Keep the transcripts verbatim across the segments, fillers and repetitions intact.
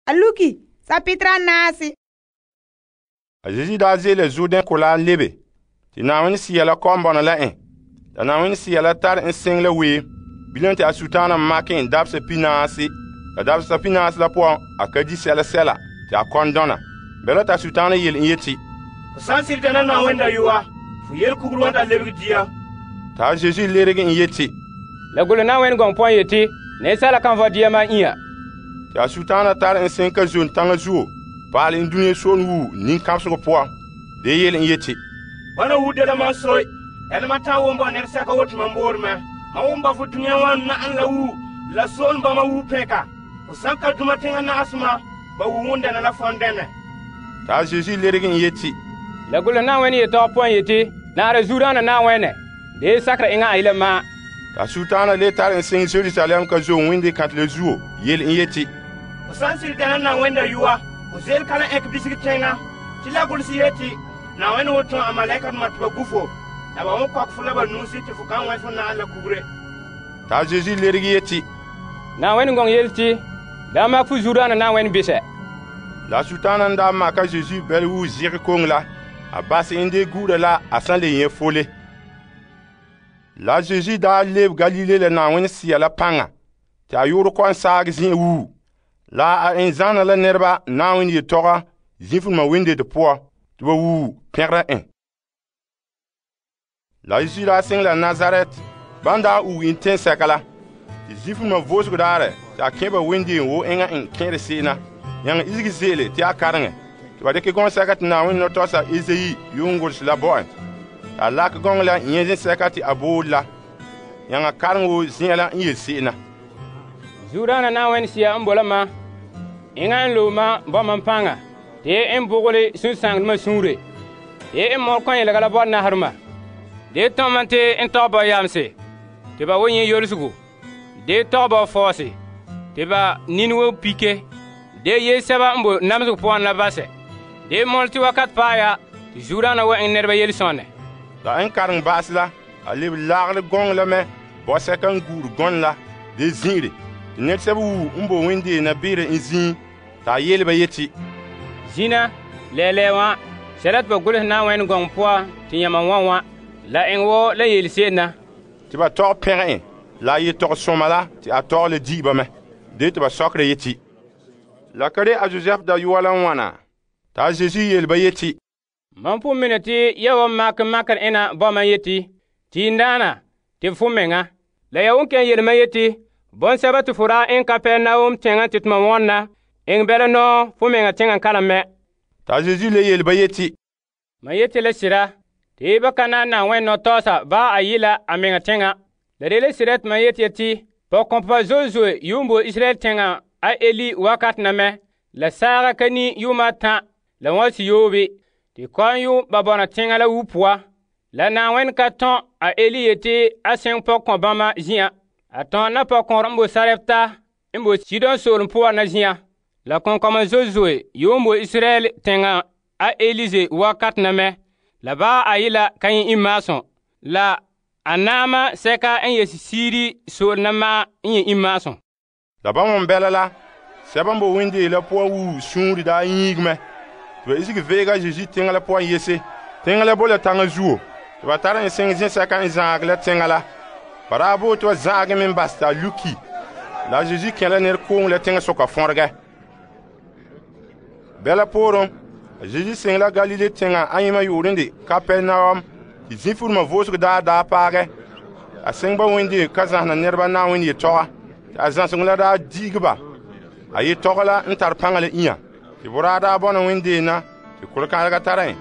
a luki sapitra naasi. A Zeezi daa ze'ele Jordan kolaa lebe, te Na'ayenɛ Sea la kɔ'ɔn bɔna la en. La Na'ayenɛ Sea la tare en seŋ la wee. Bilam te a sutaana makɛ en dabesa pinaasi. La dabesa pinaasi la poan a ka di sɛla sɛla te a kɔn dɔna. Bala ta sutaana yele en yeti, Fo san sirita na Na'ayenɛ dayɔa, fo yele kuguru wan ta lebege dia. Ta Zeezi lerege en yeti, La gole Na'ayenɛ gɔŋ poan yeti, nɛɛsɛla kan vɔ dia ma ia. Te a sutaana tare en seŋ ka zon taŋa zuo, paale en dunia soon wuu nin-kãbesegɔ poan. De yele en yeti, Bana wu de la man soy, ɛla ma ta won ba nɛr sɛka wotu man boor mɛ. Ma won ba fo dunia wan na'an la wu, la soon ba ma wu pɛka. Fo san ka duma teŋa na'asema, ba wu wun dɛna la fɔn dɛna. Ta Zeezi lerege en yeti, La gole Na'ayenɛ yetɔgɔ poan yeti, naara zuodaana Na'ayenɛ, de sakera eŋa a yela ma. Ta sutaana le tare en seŋ Jerusalem ka zo wende kantele zuo, yele en yeti, Fo san sirita na Na'ayenɛ dayɔa, fo zel kala ɛk bisigi teŋa. Ti la gulsi yeti, Na'ayenɛ wo tõo a malaikadoma tɩ ba gu fo, la ba won kɔk fo la ba nuusi tɩ fo kan wɛ fo na'an la kugure. Ta Zeezi lerege yeti, Na'ayenɛ gɔŋ yele ti, daa mak fo zuodaana Na'ayenɛ bisɛ. La sutaana n daa maka Zeezi bɛle wuu zɩge koŋe la, a bas en de gu'ura la a san le yẽ fole. La Zeezi daa lebe Galile la Na'ayenɛ Sea la paŋa, tɩ a yoore kɔ'ɔn saag zĩ'e wuu. La a en zãana la nɛreba Na'ayenɛ yetɔga zĩfulema wendete poan, tɩ ba wuu pẽgera en. La Zeezi daa seŋ la Nazaret, ban daa uu en tẽnsɛka la, tɩ zĩfulema voosego daarɛ tɩ a kẽ ba wendeen wo eŋa en kẽere se'ena, yãng izigi ze'ele tɩ a kareŋɛ, tɩ ba dɩkɛ gɔŋsɛka tɩ Na'ayenɛ nɔtɔgsa Ezayi yuun gʋlse la bo en. Tɩ a lakɛ gɔŋɔ la yẽ zẽsɛka tɩ a boole la, yãng a kareŋ wo zĩa la n yele se'ena. Zuodaana Na'ayenɛ Sea n bola ma, eŋa n loe ma bɔma paŋa, te en bogole sũ-sãngdmã sũure, te en mɔr kɔn yelega la bɔr nahrema. De tõma te n tɔg ba yamse, te ba wo yẽ yolsego. De tɔg ba fɔɔse, te ba nin wo pike. De ye sɛba n bo namsego poan la basɛ. De mɔl tɩ wakat paɛ ya, tɩ Zuodaana wa en nɛreba yel-sõne. La n kareŋ ba'ase la, a leb laagre gɔŋɔ la mɛ bɔsɛka n guur gɔn la de zĩ'ire. Tɩ nɛresɛba wuu n bo wendeena beere n zĩig, t'a yele ba yeti, Zĩna, lɛɛlɛɛ wã, sɛla tɩ ba golsɛ Na'ayenɛ gɔŋ poan tɩ yãma wã wã, la eŋ wo la yeel se'em na. tɩ ba tɔg pẽg en, la a yetɔg sõma la tɩ a tɔg le di'i ba mɛ. De tɩ ba sɔkera yeti, la ka re a Zozɛf dayɔa la n wãna? T'a Zeezi yele ba yeti, Mam pʋ mine tɩ ya wa mak makr ẽna bɔma yeti, tɩ n daana tɩ fo menga. La ya wun kẽn yelma yeti, bõn-sɛba tɩ fo raa en Kapɛrnaum tẽngã tɩ tʋma wãnna, eŋ bɛla nɔɔ fo menga tẽngã kalem mɛ. T'a Zeezi le yele ba yeti, Ma yeti la sɩda, tɩ ba ka na Na'ayenɛ nɔtɔɔsa ba a yɩ la a menga tẽngã. La de la sɩda tɩ ma yeti ya tɩ, pɔg-kõmpa zoe-zoe yuun bo Israyɛl tẽngã a Eli wakat na mɛ, la saaga ka ni yʋʋma tã la wã siyoobe, tɩ kɔn yʋ ba bɔna tẽngã la wu pʋa. La Na'ayenɛ ka tõn a Eli yeti a sẽng pɔg-kõ bãmba zĩ'ã. A tõn na pɔg-kõor n bo Sarɛpta n bo Sidon soolem poan na zĩ'ã. La kõn-kɔma zoe-zoe yuun bo Israyɛl tẽngã a Elize wakat na mɛ, la ba a yɩ la ka yẽ imaasõ, la a naamã sɛka n yesi siiri sool na ma n yẽ imaasõ. la ba wõn bɛla la, sɛba n bo wendee la poan wuu sũuri daa yĩig mɛ, tɩ ba isigi veega Zeezi tẽngã la poan yese. Tẽngã la bo la taŋa zuo, tɩ ba tar en sẽng zẽ-sɛka n zãag la tẽngã la. Ba daa bo tɩ ba zãagẽ me n bas t'a luki. La a Zeezi kẽ la ned koong la tẽngã soka fõrgɛ. Bɛla poorẽ, a Zeezi seng la Galile tẽngã a yẽmã yoorende Kapɛrnaum, tɩ zĩfulumã voosg daa daa paagɛ. A seng ba wendee ka zãsna nɛreba Na'ayenɛ yetɔga, tɩ a zãseng la daa di'ig ba. A yetɔga la n tar pãnga la ĩyã, tɩ boraa daa bɔna wendeena, tɩ kʋlkãadega tara en,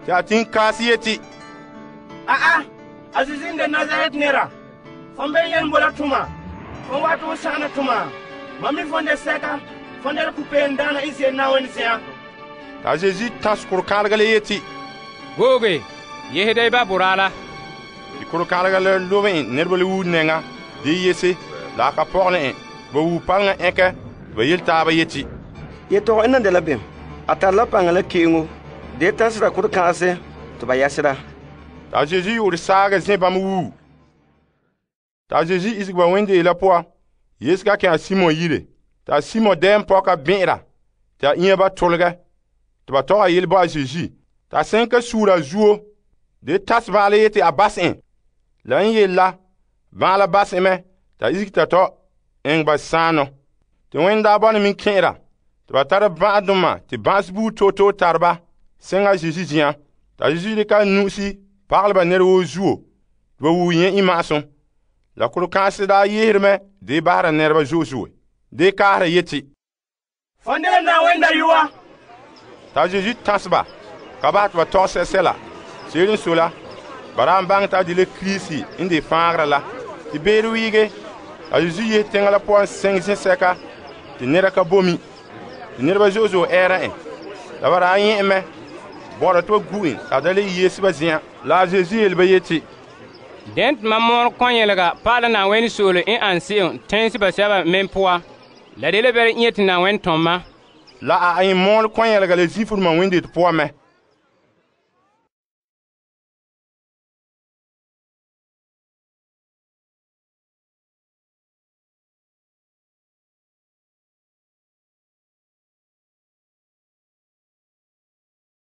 tɩ a tɩn kaas yeti, A'a, a Zeezi n de Nazaret nera, fõn bee yɛn bola tʋma, fõn wa tɩ fo sãgna tʋma. Mam mi fõn de sɛka, fõn de la pupeen daana Israyɛl Na'ayenɛ zɩã. t'a Zeezi tãs kʋlkãadega la yeti, Googe, yesda y ba boraa la. tɩ kʋlkãadega la lob en nedba la wuu nɛŋa de yese, la a ka pɔgene en. Ba wuu palengã ẽkɛ, tɩ ba yel taaba yeti, Yetɔg n nan de la bem, a tar la paŋa la ke'engo, de tãsda kʋd-kãase tɩ ba yɛsda. t'a Zeezi yʋʋr saagã zẽ bãmb wuu. T'a Zeezi isg ba wendee la poan, yesga kẽ a Simo yire, t'a Simo dɛɛm pɔka bẽ'era, tɩ a iŋa ba tolgɛ tɩ ba tɔgɛ yele bo a Zeezi t'a sẽn ka suura a zuo de tas bãale yeti a bas en. La n yele la bãala bas en mɛ t'a isege t'a tɔ eŋɛ ba sãanɔ. Tɩ wẽn daa bɔna min kẽ'era tɩ ba tara bã'adoma tɩ bã'se buuri toto tare ba sẽnga Zeezi zin'an. T'a Zeezi dɩka a nu'usi pagalɛ ba nɛra woo zuo tɩ ba wuo yẽ imma'asum. La kuro-kãense daa yeesere mɛ de bahera nɛreba zo'e zo'e de kaahera yeti, Fondele na wẽnda yuwa. t'a Zeezi tãs ba ka basɛ tɩ ba tɔg sɛsɛla. Seere n so la, ba daa n baŋɛ t'a de la Kirisi n de fãagera la. Tɩ beere wiige, a Zeezi yese teŋa la poan sẽng zẽsɛka tɩ nɛra ka bomi. Tɩ nɛreba zo'e zo'e ɛɛra en. La ba daa yẽ mɛ bɔ'ɔra tɩ ba gu en t'a da le yeese ba zi'an. La a Zeezi yele ba yeti, Dẽn tɩ mam moon kõ-yɛlga pa'ala Na'ayenɛ soole n an se'em tẽnse basɛba men poa. La de la bɛra n yeti Na'ayenɛ tɔm ma. la a ẽ mɔɔl kõ-yɛlga la zĩfuruma wẽndet poan mɛ.